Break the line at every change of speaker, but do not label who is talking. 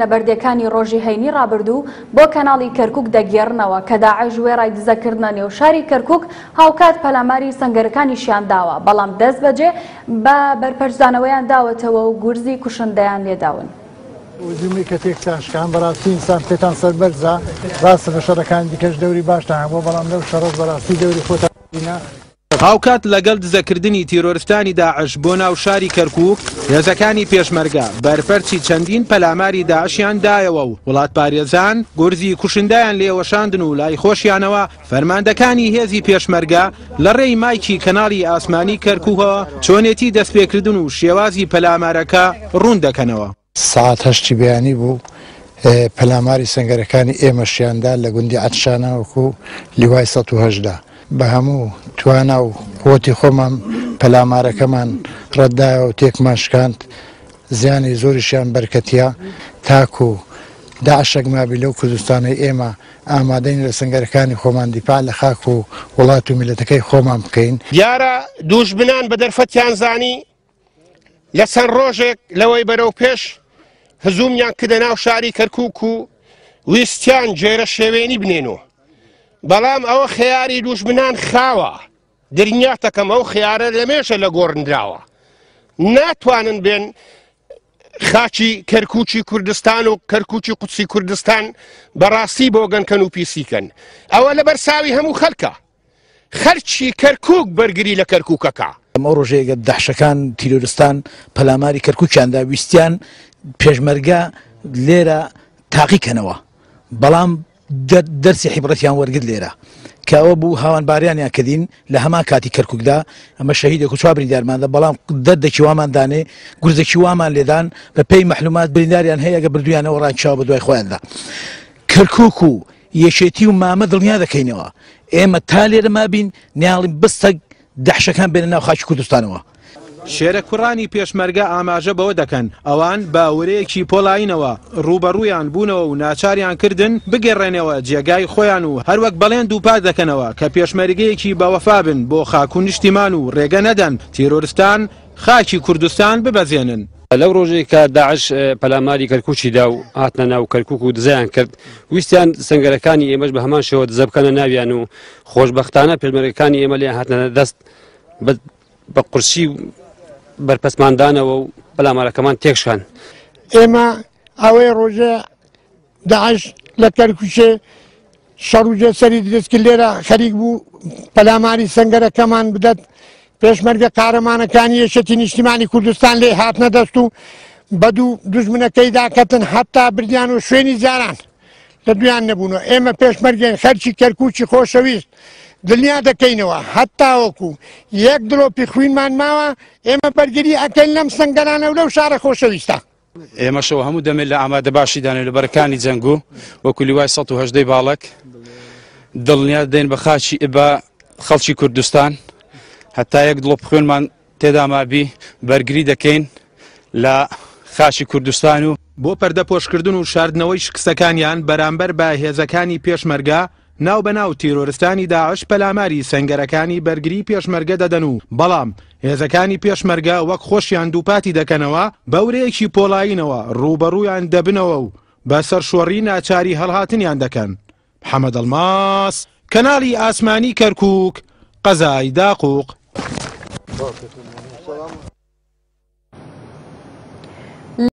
نەبەردێکانی ڕۆژی هەینی ڕابردوو بۆ کەناڵی کەرکوک دەگێڕنەوە کە داعش وێڕای دزەکردنە نێو شاری کەرکوک هاوکات پەلاماری سەنگەرەکانیشیان داوە، بەڵام دەستبەجێ بە بەرپەرچدانەوەیان داوەتەوە و گورزی کوشندەیان لێداون.
هجومی کە تێکتان شکان بەڕاستی ئینسان پێتان سەربەرزە ڕاستە لە شەڕەکانی دیکەش دەوری باشتان هەبووە بەڵام لەو شەڕەش بەڕاستی دەوری خۆتان بینا.
هاوکات لەگەڵ دزەکردنی تیرۆرستانی داعش بۆ ناو شاری کەرکوک، هێزەکانی پێشمەرگە بەرپەرچی چەندین پەلاماری داعشیان دایەوە و وڵاتپارێزان گورزی کوشندەیان لێوەشاندن و لای خۆشیانەوە فەرماندەکانی هێزی پێشمەرگە لە ڕێی مایکی کەناڵی ئاسمانی کەرکوکەوە چۆنێتی دەستپێکردن و شێوازی پەلامارەکە ڕوون دەکەنەوە.
سەعات هەشتی بەیانی بوو پەلاماری سەنگەرەکانی ئێمەشیان دا لە گوندی عەتشانە وەکو لیوای 118 بە هەموو توانا و قوتی خۆمان پەلامارەکەمان ڕەتدایەوە و تێکمان شکاند زیانی زۆریشیان بەرکەتیە تاکو داعشێک مابی لەو کوردستانەی ئێمە ئامادەین لە سەنگەرەکانی خۆمان دیفاع لە خاک و وڵات و میللەتەکەی خۆمان بکەین.
دیارە دووژمنان بە دەرفەتیان زانی لە چەند ڕۆژێک لەوەی بەرەو پێش هزومیان کردە ناو شاری کەرکوک و ویستیان جێرە شێوێنی بنێن و بەڵام ئەوە خەیاری دوژمنان خاوە درنیاتەکەم ئەو خیارە لەمێژە لە گۆڕنراوە ناتوانن بێن خاکی کەرکوکی کوردستان و کەرکوکی قودسی کوردستان بەڕاستی بۆگەنکەن و پیسیکەن ئەوە لەبەر ساوی هەموو خەلکە خەرکی کەرکوک بەرگری لە کەرکوکەکە.
ئەو ڕۆژەیە گەر دەحشەکان تیرۆرستان پەلاماری کەرکوکیان دا ویستیان پێشمەرگە لێرە تاقی کەنەوە بەڵام دەرسی حیبڕەتیان وەرگرت لێرە کە ئەوە بوو هاوانباریانیان کردین لە هەمان کاتی کەرکوکدا ئەمە شەهیدێک و چوار بریندارماندا بەڵام دەردێکی وامان دانێ گورزێکی وامان لێدان بە پێی مەحلومات برینداریان هەیە گە بردویانەوە ڕاکشاوە بە دوای خۆیاندا کەرکوک و یەکێتی و مامە دڵنیا دەکەینەوە ئێمە تا لێرە مابین نیاڵین بستەک دەحشەکان بێنە ناو خاکی کوردستانەوە.
شێرە کوڕانی پێشمەرگە ئاماژە بەوە دەکەن، ئەوان بە ورەیەکی پۆڵایینەوە ڕووبەڕوویان بوونەوە و ناچاریان کردن بگەڕێنەوە جێگای خۆیان و هەروەک بەڵێن دووپات دەکەنەوە کە پێشمەرگەیەکی بەوەفا بن بۆ خاک و نیشتیمان و ڕێگە نەدەن تیرۆرستان خاکی کوردستان ببەزێنن.
لەو ڕۆژەی کە داعش پەلاماری کەرکوکی دا و هاتنە ناو کەرکوک و دزەیان کرد، ویستیان سەنگەرەکانی ئێمەش بە هەمان شێوە دزە بکەنە ناویان و خۆشبەختانە پێشمەرگەکانی ئێمە لێیان هاتنە دەست بە قورسی بەرپەسماندانەوە و پەلامارەکەمان تێکشکان.
ئێمە ئەوەی ڕۆژێ داعش لە کەرکوکێ شەڕ و جێسەری دروست کرد لێرە خەریک بوو پەلاماری سەنگەرەکەمان بدات پێشمەرگە قارەمانەکانی یەکێتی نیشتیمانی کوردستان لێ هاتنە دەست و بەدوو دوژمنەکەی داکەتن حتا بردیان و شوێنی جاران لە دویان نەبوونەوە ئێمە پێشمەرگێن خەرکی کەرکوکی خۆشەویست دڵنیا دەکەینەوە هەتاوەکو یەک دڵۆپی خوینمان ماوە ئێمە بەرگری ئەکەین لەم سنگەرانە و لەو شارە خۆشەویستە.
ئێمەشەوە هەموو دەمێ لە ئامادە باشی دانێ لە بەرەکانی جەنگ و وەکو لیوای 118 باڵک دڵنیا دەین بە خاچی بە خەڵکی کوردستان هەتا یەک دڵۆپ خوێنمان تێدا مابی بەرگری دەکەین لە خاچی کوردستان و
بۆ پەردەپۆشکردن و شاردنەوەی شکستەکانیان بەرامبەر بە هێزەکانی پێشمەرگە، ناو بە ناو تیرۆرستانی داعش پەلاماری سەنگەرەکانی بەرگری پێشمەرگە دەدەن و بەڵام هێزەکانی پێشمەرگە وەک خۆشیان دووپاتی دەکەنەوە بە ورەیەکی پۆڵایینەوە ڕووبەڕوویان دەبنەوە و بە سەرشۆڕی ناچاری هەڵهاتنیان دەکەن. محەمەد ئەڵماس، کەناڵی ئاسمانی کەرکووک، قەزای داقوق.